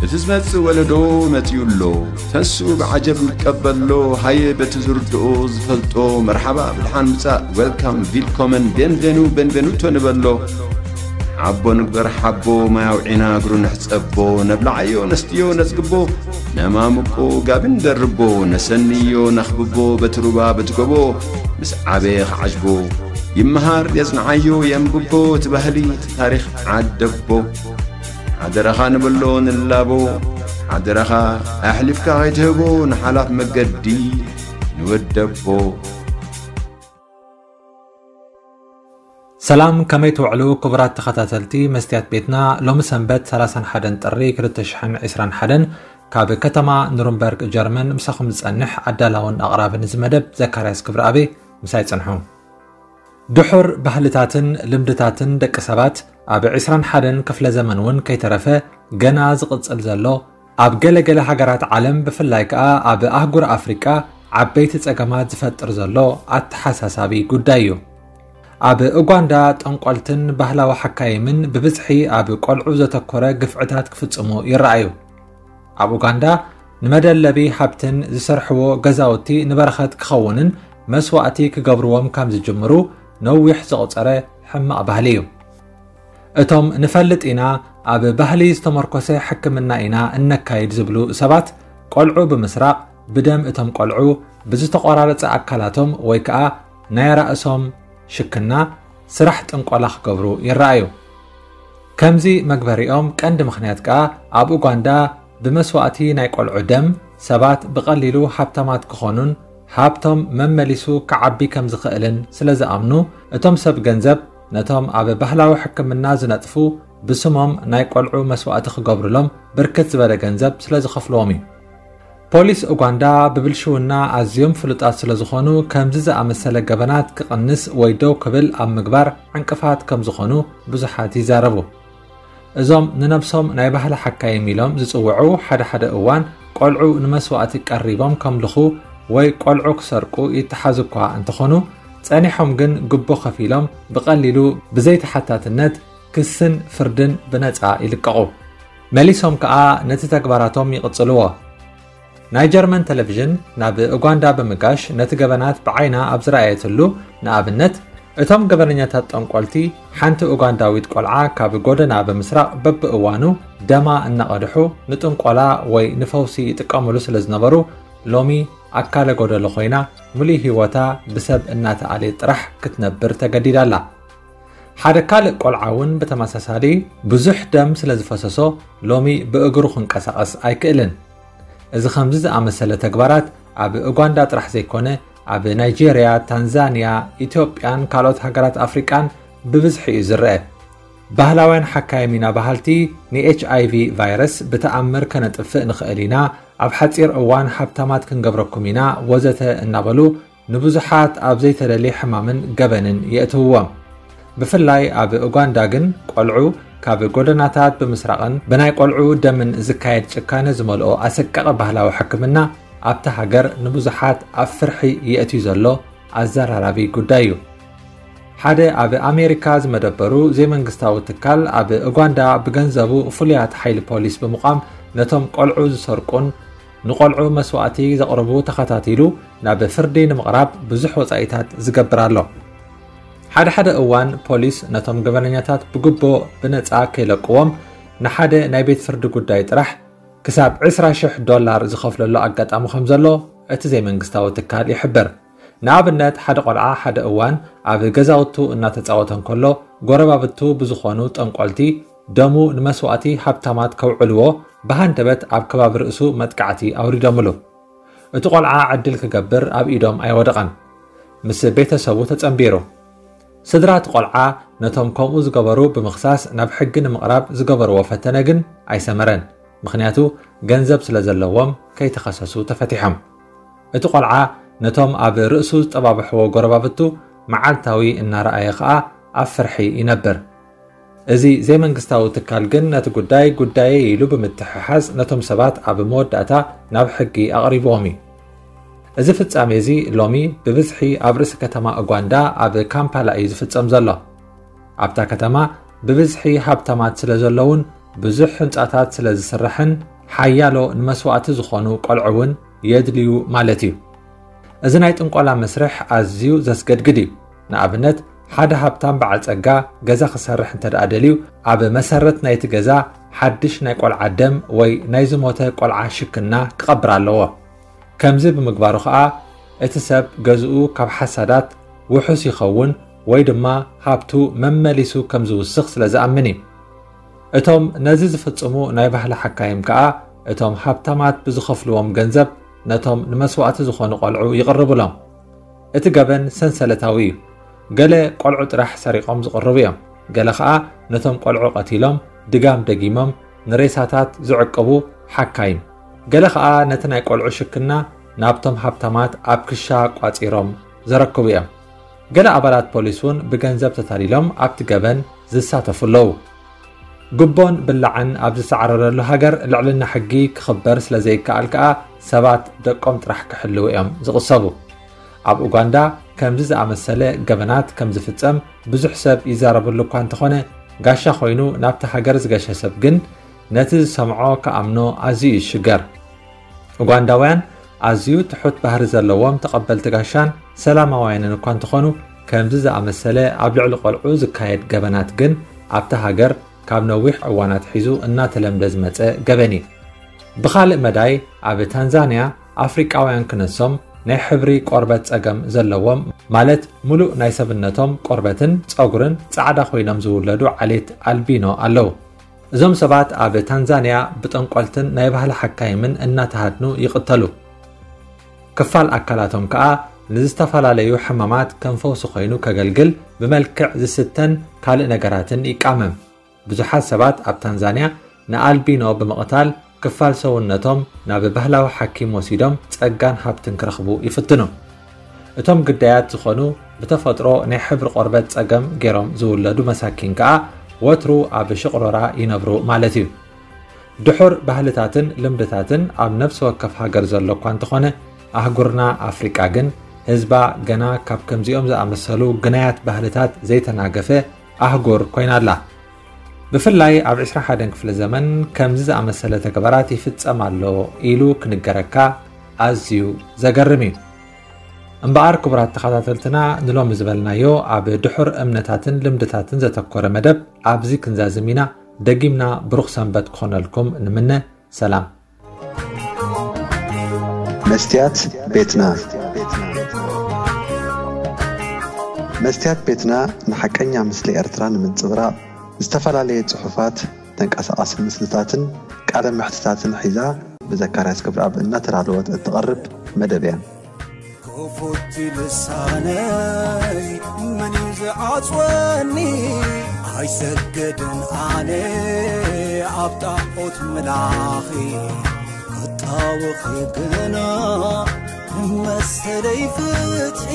እቲ ዝመጽእ ወለዶ መጺኡ ኣሎ። ተንስኡ ብዓጀብ ንቀበሎ። ሃየ በቲ ዝርድኦ ዝፈልጦ መርሓባ ብድሓን ምጻእ፣ ዌልካም፣ ቪልኮመን፣ ቤንቬኑ፣ ቤንቬኑቶ ንበሎ። ሓቦ ንግበር ሓቦ፣ ማይ ኣውዒና እግሩ ንሕጸቦ። ነብልዓዮ ነስትዮ ነጽግቦ፣ ነማምቆ ጋቢ ንደርቦ። ነሰንዮ ነኽብቦ በቲ ሩባ በቲ ጎቦ። ምስ ዓበየ ክዓጅቦ ይመሃር የጽንዓዮ የንብቦ። እቲ ባህሊ እቲ ታሪኽ ዓደቦ። ሓደራኻ ንብሎ ንላቦ። ሓደራኻ ኣሕሊፍካ ከይትህቦ ንሓላፍ መገዲ ንወደቦ። ሰላም፣ ከመይ ትውዕሉ ክቡራት ተኸታተልቲ መስትያት ቤትና? ሎሚ ሰንበት ሰላሳን ሓደን ጥሪ ክልተ ሽሕን ዕስራን ሓደን ካብ ከተማ ኑርንበርግ ጀርመን ምሳኹም ዝጸንሕ ኣዳላውን ኣቕራብን እዚ መደብ ዘካርያስ ክብረኣቤ። ምሳይ ጽንሑ። ድሑር ባህልታትን ልምድታትን ደቂ ሰባት ኣብ ዕስራን ሓደን ክፍለ ዘመን እውን ከይተረፈ ገና ዝቕጽል ዘሎ፣ ኣብ ገለ ገለ ሃገራት ዓለም ብፍላይ ከኣ ኣብ ኣህጉር ኣፍሪቃ ዓበይቲ ጸገማት ዝፈጥር ዘሎ ኣተሓሳሳቢ ጉዳይ እዩ። ኣብ ኡጋንዳ ጠንቆልትን ባህላዊ ሓካይምን ብብዝሒ ኣብ ቆልዑ ዘተኮረ ግፍዕታት ክፍጽሙ ይረኣዩ። ኣብ ኡጋንዳ ንመደለቢ ሃብትን ዝሰርሕዎ ገዛውቲ ንበረኸት ክኸውንን መስዋእቲ ክገብርዎም ከም ዝጅምሩ ነዊሕ ዘቑጸረ ሕማቕ ባህሊ እዩ። እቶም ንፈልጥ ኢና፣ ኣብ ባህሊ ዝተመርኮሰ ሕክምና ኢና እነካይድ ዝብሉ ሰባት፣ ቆልዑ ብምስራቕ፣ ብደም እቶም ቆልዑ፣ ብዝተቖራረጸ ኣካላቶም ወይ ከኣ ናይ ራእሶም ሽክና፣ ስራሕ ጥንቆላ ክገብሩ ይረኣዩ። ከምዚ መግበሪኦም ቀንዲ ምኽንያት ከኣ ኣብ ኡጋንዳ ብመስዋእቲ ናይ ቆልዑ ደም ሰባት ብቐሊሉ ሃብታማት ክኾኑን ሃብቶም መመሊሱ ክዓቢ ከም ዝኽእልን ስለ ዝኣምኑ፣ እቶም ሰብ ገንዘብ ነቶም ኣብ ባህላዊ ሕክምና ዝነጥፉ ብስሞም ናይ ቆልዑ መስዋእቲ ክገብሩሎም ብርክት ዝበለ ገንዘብ ስለ ዝኸፍልዎም እዩ። ፖሊስ ኡጋንዳ ብብልሽውና ኣዝዮም ፍሉጣት ስለ ዝኾኑ፣ ከምዚ ዝኣመሰለ ገበናት ክቕንስ ወይ ደው ክብል ኣብ ምግባር ዕንቅፋት ከም ዝኾኑ ብዙሓት ይዛረቡ። እዞም ንነብሶም ናይ ባህሊ ሓካይም ኢሎም ዝጽውዑ፣ ሓደ ሓደ እዋን ቆልዑ ንመስዋእቲ ቀሪቦም ከምልኹ ወይ ቆልዑ ክሰርቁ ይተሓዙ እኳ እንተኾኑ፣ ጸኒሖም ግን ግቦ ከፊሎም ብቐሊሉ ብዘይተሓታትነት ክስን ፍርድን ብነጻ ይልቀቑ። መሊሶም ከኣ ነቲ ተግባራቶም ይቕጽልዎ። ናይ ጀርመን ቴሌቪዥን ናብ ኡጋንዳ ብምጋሽ ነቲ ገበናት ብዓይና ኣብ ዝረኣየትሉ፣ ንኣብነት፣ እቶም ገበነኛታት ጠንቆልቲ ሓንቲ ኡጋንዳዊት ቆልዓ ካብ ጎደና ብምስራቕ በብእዋኑ ደማ እናቐድሑ ንጥንቆላ ወይ ንፈውሲ ይጥቀምሉ ስለ ዝነበሩ፣ ሎሚ ኣካለ ጎደሎ ኮይና፣ ምሉእ ህይወታ ብሰብ እናተኣልየት ጥራሕ ክትነብር ተገዲዳ ኣላ። ሓደ ካልእ ቆልዓ እውን ብተመሳሳሊ ብዙሕ ደም ስለ ዝፈሰሶ፣ ሎሚ ብእግሩ ክንቀሳቐስ ኣይክእልን። እዚ ከምዚ ዝኣመሰለ ተግባራት ኣብ ኡጋንዳ ጥራሕ ዘይኮነ፣ ኣብ ናይጄርያ፣ ታንዛንያ፣ ኢትዮጵያን ካልኦት ሃገራት ኣፍሪቃን ብብዝሒ እዩ ዝረአ። ባህላውያን ሓካይም ኢና በሃልቲ፣ ንኤች ኣይ ቪ ቫይረስ ብተኣምር ከነጥፍእ ንኽእል ኢና፣ ኣብ ሓጺር እዋን ሃብታማት ክንገብረኩም ኢና፣ ወዘተ እናበሉ ንብዙሓት ኣብ ዘይተደልየ ሕማምን ገበንን የእትውዎም። ብፍላይ ኣብ ኡጋንዳ ግን፣ ቆልዑ ካብ ጎደናታት ብምስራቕን ብናይ ቆልዑ ደምን ዝካየድ ጭካነ ዝመልኦ ኣሰቃቒ ባህላዊ ሕክምና ኣብታ ሃገር ንብዙሓት ኣብ ፍርሒ የእትዩ ዘሎ ኣዘራራቢ ጉዳይ እዩ። ሓደ ኣብ ኣሜሪካ ዝመደበሩ ዘይመንግስታዊ ትካል፣ ኣብ ኡጋንዳ ብገንዘቡ ፍሉያት ሓይሊ ፖሊስ ብምቋም፣ ነቶም ቆልዑ ዝሰርቁን ንቆልዑ መስዋእቲ ዘቕርቡ ተኸታቲሉ ናብ ፍርዲ ንምቕራብ ብዙሕ ወጻኢታት ዝገብር ኣሎ። ሓደ ሓደ እዋን ፖሊስ ነቶም ገበነኛታት ብግቦ ብነጻ ከይለቅዎም፣ ንሓደ ናይ ቤት ፍርዲ ጉዳይ ጥራሕ ክሳብ ዕስራ ሽሕ ዶላር ዝኸፍለሉ ኣጋጣሚ ከም ዘሎ እቲ ዘይመንግስታዊ ትካል ይሕብር። ንኣብነት፣ ሓደ ቆልዓ ሓደ እዋን ኣብ ገዛውቱ እናተጻወተ እንከሎ፣ ጎረባብቱ ብዝኾኑ ጠንቆልቲ ደሙ ንመስዋእቲ ሃብታማት ከውዕልዎ ብሃንደበት ኣብ ከባቢ ርእሱ መጥቃዕቲ ኣውሪዶምሉ። እቲ ቆልዓ ዕድል ክገብር ኣብ ኢዶም ኣይወደቐን። ምስ ቤተሰቡ ተጸንቢሩ። ስድራ እቲ ቆልዓ ነቶም ከምኡ ዝገበሩ ብምኽሳስ ናብ ሕጊ ንምቕራብ ዝገበርዎ ፈተነ ግን ኣይሰመረን። ምኽንያቱ፣ ገንዘብ ስለ ዘለዎም ከይተኸሰሱ ተፈቲሖም። እቲ ቆልዓ ነቶም ኣብ ርእሱ ዝጠባብሕዎ ጎረባብቱ መዓልታዊ እናረኣየ ኸኣ ኣብ ፍርሒ ይነብር። እዚ ዘይመንግስታዊ ትካል ግን ነቲ ጉዳይ ጉዳየይ ኢሉ ብምትሕሓዝ ነቶም ሰባት ኣብ መወዳእታ ናብ ሕጊ ኣቕሪብዎም እዩ። እዚ ፍጻሜ እዚ ሎሚ ብብዝሒ ኣብ ርእሲ ከተማ ኡጋንዳ ኣብ ካምፓላ እዩ ዝፍጸም ዘሎ። ኣብታ ከተማ ብብዝሒ ሃብታማት ስለ ዘለውን ብዙሕ ህንጻታት ስለ ዝስራሕን ሓያሎ ንመስዋእቲ ዝኾኑ ቆልዑ እውን የድልዩ ማለት እዩ። እዚ ናይ ጥንቆላ መስርሕ ኣዝዩ ዘስገድግድ እዩ። ንኣብነት፣ ሓደ ሃብታም በዓል ጸጋ ገዛ ክሰርሕ እንተ ደኣ ደልዩ፣ ኣብ መሰረት ናይቲ ገዛ ሓድሽ ናይ ቆልዓ ደም ወይ ናይ ዝሞተ ቆልዓ ሽክና ክቐብር ኣለዎ። ከምዚ ብምግባሩ ኸኣ፣ እቲ ሰብ ገዝኡ ካብ ሓሳዳት ውሑስ ይኸውን ወይ ድማ ሃብቱ መመሊሱ ከም ዝውስኽ ስለ ዝኣምን እዩ። እቶም ነዚ ዝፍጽሙ ናይ ባህሊ ሓካይም ከኣ፣ እቶም ሃብታማት ብዝኸፍልዎም ገንዘብ ነቶም ንመስዋእቲ ዝኾኑ ቆልዑ ይቕርብሎም። እቲ ገበን ሰንሰለታዊ እዩ። ገለ ቆልዑ ጥራሕ ሰሪቖም ዝቕርቡ እዮም። ገለ ኸኣ ነቶም ቆልዑ ቀቲሎም፣ ድጋም ደጊሞም ንሬሳታት ዝዕቅቡ ሓካይም። ገለ ኸኣ ነቲ ናይ ቆልዑ ሽክና ናብቶም ሃብታማት ኣብ ክሻ ቋጺሮም ዘረክቡ እዮም። ገለ ኣባላት ፖሊስ እውን ብገንዘብ ተታሊሎም ኣብቲ ገበን ዝሳተፉ ኣለዉ። ጉቦን ብላዕን ኣብ ዝሰዓረረሉ ሃገር፣ ልዕልና ሕጊ ክኽበር ስለ ዘይከኣል ከኣ፣ ሰባት ደቆም ጥራሕ ክሕልዉ እዮም ዝቕሰቡ። ኣብ ኡጋንዳ ከምዚ ዝኣመሰለ ገበናት ከም ዝፍጸም ብዙሕ ሰብ ይዛረበሉ እኳ እንተኾነ፣ ጋሻ ኮይኑ ናብቲ ሃገር ዝገሸ ሰብ ግን ነቲ ዝሰምዖ ክኣምኖ ኣዝዩ ይሽገር። ኡጋንዳውያን ኣዝዩ ትሑት ባህሪ ዘለዎም ተቐበልቲ ጋሻን ሰላማውያንን እኳ እንተኾኑ፣ ከምዚ ዝኣመሰለ ኣብ ልዕሊ ቆልዑ ዝካየድ ገበናት ግን ኣብታ ሃገር ካብ ነዊሕ እዋን ኣትሒዙ እናተለምደ ዝመጸ ገበን እዩ። ብኻልእ መዳይ፣ ኣብ ታንዛንያ ኣፍሪቃውያን ክነሶም ናይ ሕብሪ ቆርበት ጸገም ዘለዎም፣ ማለት ምሉእ ናይ ሰብነቶም ቆርበትን ጸጉርን ጻዕዳ ኮይኖም ዝውለዱ ዓሌት ኣልቢኖ ኣለዉ። እዞም ሰባት ኣብ ታንዛንያ ብጠንቆልትን ናይ ባህሊ ሓካይምን እናተሃድኑ ይቕተሉ። ክፋል ኣካላቶም ከኣ ንዝተፈላለዩ ሕማማት ከም ፈውሲ ኮይኑ ከገልግል ብመልክዕ ዝስተን ካልእ ነገራትን ይቃመም። ብዙሓት ሰባት ኣብ ታንዛንያ ንኣልቢኖ ብምቕታል ክፋል ሰውነቶም ናብ ባህላዊ ሓኪም ወሲዶም ጸጋን ሃብትን ክረኽቡ ይፍትኑ። እቶም ግዳያት ዝኾኑ ብተፈጥሮ ናይ ሕብሪ ቆርበት ጸገም ገይሮም ዝውለዱ መሳኪን ከኣ ወትሩ ኣብ ሽቕሮራ ይነብሩ ማለት እዩ። ድሑር ባህልታትን ልምድታትን ኣብ ነፍሲ ወከፍ ሃገር ዘሎ እኳ እንተኾነ፣ ኣህጉርና ኣፍሪቃ ግን ህዝባ ገና ካብ ከምዚኦም ዝኣመሰሉ ግናያት ባህልታት ዘይተናገፈ ኣህጉር ኮይና ኣላ። ብፍላይ ኣብ ዕስራን ሓደን ክፍለ ዘመን ከምዚ ዝኣመሰለ ተግባራት ይፍጸም ኣሎ ኢሉ ክንገረካ ኣዝዩ ዘገርም እዩ። እምበኣር ክቡራት ተኸታተልትና፣ ንሎሚ ዝበልናዮ ኣብ ድሑር እምነታትን ልምድታትን ዘተኮረ መደብ ኣብዚ ክንዛዝም ኢና። ደጊምና ብሩኽ ሰንበት ክኾነልኩም ንምነ። ሰላም። መስትያት ቤትና። መስትያት ቤትና ንሓቀኛ ምስሊ ኤርትራ ንምንጽብራቕ ዝተፈላለየ ጽሑፋት፣ ተንቀሳቓሲ ምስልታትን ቃለ መሕትታትን ሒዛ ብዘካርያስ ገብረኣብ እናተዳለወት እትቐርብ መደብ እያ። ክፉት ልሳነይ መን እዩ ዝዓጽወኒ? ኣይሰግድን ኣነ ኣብ ጣዖት ምላኺ፣ ክጣወኺ ግና መሰለይ ፍትሒ።